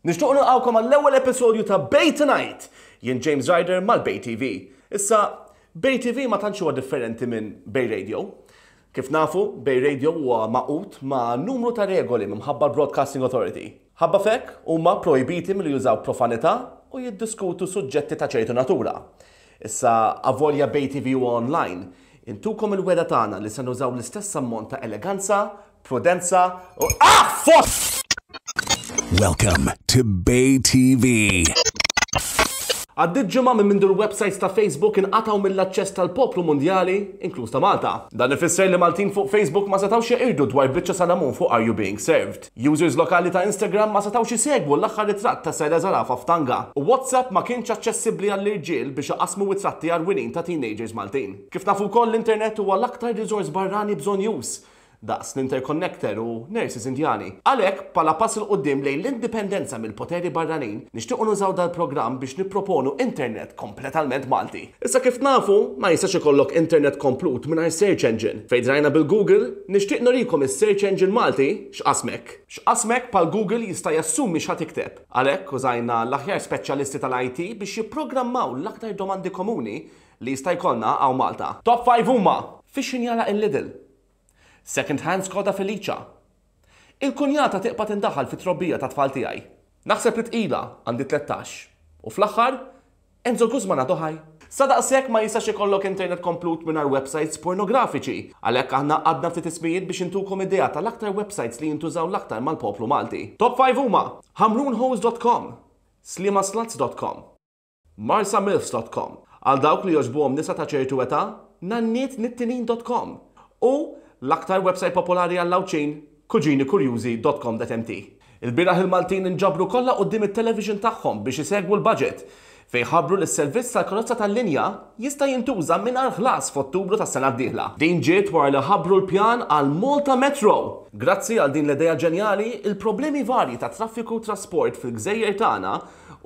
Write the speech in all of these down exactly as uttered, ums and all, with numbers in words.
Nixtieq nilqgħukom għall-ewwel episodju ta' Bay Tonight. Jien James Ryder mal-Bay T V. Issa, Bay T V ma tantx huwa differenti minn Bay Radio. Kif nafu, Bay Radio huwa magħqud ma' numru ta' regoli minħabba Broadcasting Authority. Ħabba f'hekk huma projbiti milli jużaw profanità u jiddiskutu suġġetti ta' ċertu natura. Issa, avolja Bay T V huwa online, intukom il-wegħda tagħna li se nużaw l-istess ammont ta' eleganza, prudenza u ah, fos! Welcome to Bay T V. Għaddit ġimgħa minn mindu l-websites ta' Facebook inqataw mill-aċċess tal-poplu mondjali, inkluż ta' Malta. Dan ifisser li Maltin fuq Facebook ma setawx jeqirdu dwar biċċa salamun fuq Are You Being Served. Users lokali ta' Instagram ma setawx isegwu l-aħħar ritratt ta' Sera Zarafa f'tanga. U WhatsApp ma kienx aċċessibbli għall-irġiel biex iqasmu ritratti għarwinin ta' teenagers Maltin. Kif nafu wkoll, l-internet huwa l-aktar resource barrani bżonnjuż daqs l-interconnector u nurses Indjani. Għalhekk, bħala pass 'il quddiem lejn l-indipendenza mill-poteri barranin, nixtiequ nużaw dal-programm biex nipproponu internet kompletament Malti. Issa, kif nafu, ma jistax ikollok internet komplut mingħajr search engine. Fejn drajna bil-Google, nixtieq nurikom is-search engine Malti X'Qasmek. X'Qasmek bħal Google jista' jassumi x'ħa tikteb. Għalhekk użajna l-aħjar speċjalisti tal-I T biex jipprogrammaw l-aktar domandi komuni li jista' jkollna hawn Malta. Top five huma: fiex jagħlaq il-Lidl, Second Hand Skoda Felicia, il-kunjata tibqa' tindaħal fit-trobbija ta' tfal tiegħi, naħseb li tqila, għandi tlettax. U fl-aħħar, Enzo Guzman għadu ħaj. Sa daqshekk ma jistax ikollok internet komplut mingħajr websites pornografiċi. Għalhekk aħna għadna ftit ismijiet biex intukom idea tal-aktar websites li jintużaw l-aktar mal-poplu Malti. Top five huma: hamrunhose dot com, slimasluts dot com, marsamilfs dot com, għal dawk li jogħġbuhom nisa ta' ċertu età, nannietnittinin dot com u l-aktar website popolari għall-Għawdxin, kuġinikurjużi dot com dot M T. Il-bieraħ il-Maltin inġabru kollha quddiem it-television tagħhom biex isegwu l-budget fejn ħabbru li s-servizz tal-karozza tal-linja jista' jintuża mingħajr ħlas f'Ottubru tas-sena d-dieħla. Din ġiet wara li ħabbru l-pjan għal Malta Metro. Grazzi għal din l-idea ġenjali, il-problemi varji ta' traffiku u trasport fil-gżejjer tagħna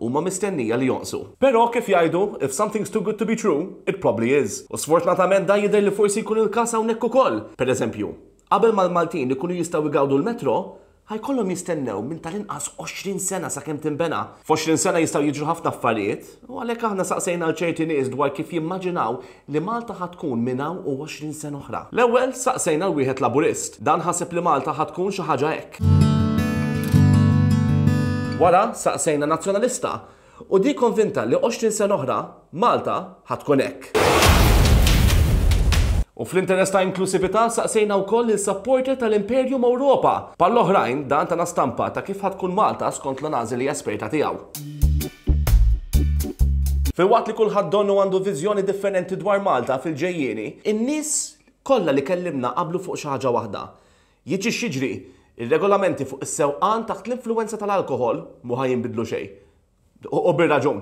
huma mistennija li jonqsu. Però kif jgħidu, if something's too good to be true, it probably is. U sfortunatament da jidher li forsi jkun il-każ hawnhekk ukoll. Per eżempju, qabel mal-Maltin ikunu jistgħu jgawdu l-metro, ħa jkollhom jistennew minn tal-inqas għoxrin sena sakemm tinbena. F'għoxrin sena jistgħu jiġru ħafna affarijiet, u għalhekk aħna saqsejna l ċerti nies dwar kif jimmaġinaw li Malta ħa tkun minn hawn u għoxrin sena oħra. L-ewwel saqsejna l wieħed Laburist. Dan ħaseb li Malta ħa tkun xi ħaġa hekk. Wara saqsejna Nazzjonalista u di konvinta li għoxrin sena oħra Malta ħa tkun hekk. U fl-interess ta' inklusività saqsejna wkoll il-supporter tal-Imperium Europa. Bħall-oħrajn, dan tana stampa ta' kif ħa tkun Malta skont l-analiżi esperta tiegħu. Filwaqt li kulħadd donnu għandu viżjoni differenti dwar Malta fil-ġejjieni, in-nies kollha li kellimna qablu fuq xi ħaġa waħda. Jiġi x'jiġri, ir-regolamenti fuq is-sewqan taħt l-influenza tal-alkohol mhu ħa jinbidlu xejn. U bir-raġun.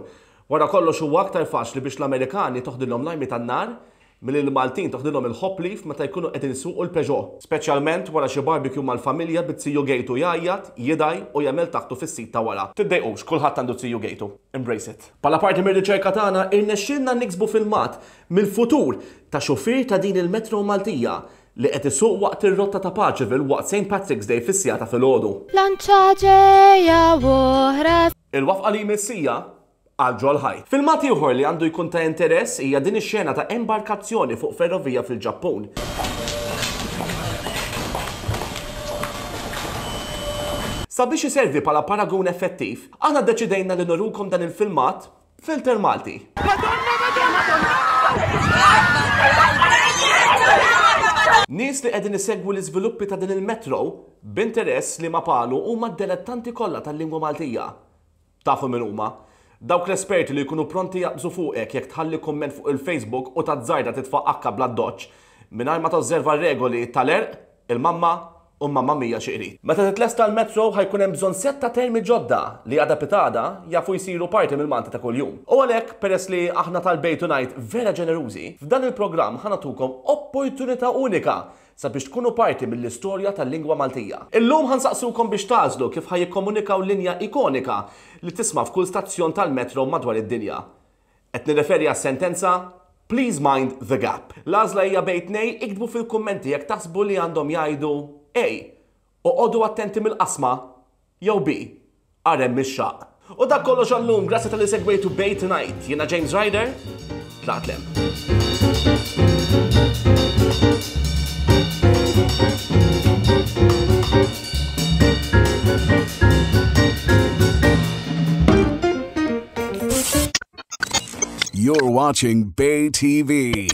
Wara kollox, huwa aktar faċli biex l-Amerikani toħdilhom l-armi tan-nar milli l-Maltin toħdilhom il-hop leaf meta jkunu qegħdin isuqu l-Peugeot. Speċjalment wara xi barbecue mal-familja bit-tiju Gejtu jgħajjat, jidaj u jagħmel taħtu fis-seat ta' wara. Tiddejqux, kulħadd għandu tiju Gejtu. Embrace it. Bħala parti mir-riċerka tagħna irnexxielna niksbu filmat mill-futur ta' xufier ta' din il-metro Maltija li qed isuq waqt ir-rotta ta' Paceville waqt Saint Patrick's Day fis-siegħa ta' filgħodu. Lanċa ġeja oħra. Il-waqfa li jmiss hija għal ġol-ħajt. Filmat ieħor li għandu jkun ta' interess hija din ix-xena ta' embarkazzjoni fuq ferrovija fil-Ġappun. Sabiex iservi bħala paragun effettiv, aħna deċidejna li nurukom dan il-filmat filter Malti. Madonna, Madonna! Nies li qegħdin isegwu l-iżviluppi ta' din il-metro b'interess li ma palu huma d-dilettanti kollha tal-lingwa Maltija. Tafu min huma? Dawk l-esperti li jkunu pronti jaqbżu fuqek jekk tħalli komment fuq il-Facebook u tażżarda titfa' akka bla doċ mingħajr ma tosserva regoli tal-erq, il-mamma u mamma mia xi qrid. Meta titlesta l-metro ħa jkun hemm bżonn setta termi ġodda li għada pitgħada jafu jsiru parti mill-Malti ta' kuljum. U għalhekk, peress li aħna tal-Bay Tonight vera ġenerużi, f'dan il-programm ħa nagħtukom opportunità unika sabiex tkunu parti mill-istorja tal-lingwa Maltija. Illum ħa nsaqsukom biex tagħżlu kif ħa jikkomunikaw linja ikonika li tisma' f'kull stazzjon tal-metro madwar id-dinja. Qed nirreferi għas-sentenza "Please mind the gap". L-għażla hija bejn tnejn. Iktbu fil-kummenti jekk taħsbu li għandhom jgħidu A, oqogħdu attenti mill-qasma, jew B, Ara hemm ix-xaqq. U dak kollox għal-lum, grazzi talli segwejtu Bay Tonight. Jiena James Ryder, tlaqt 'l hemm. You're watching Bay T V.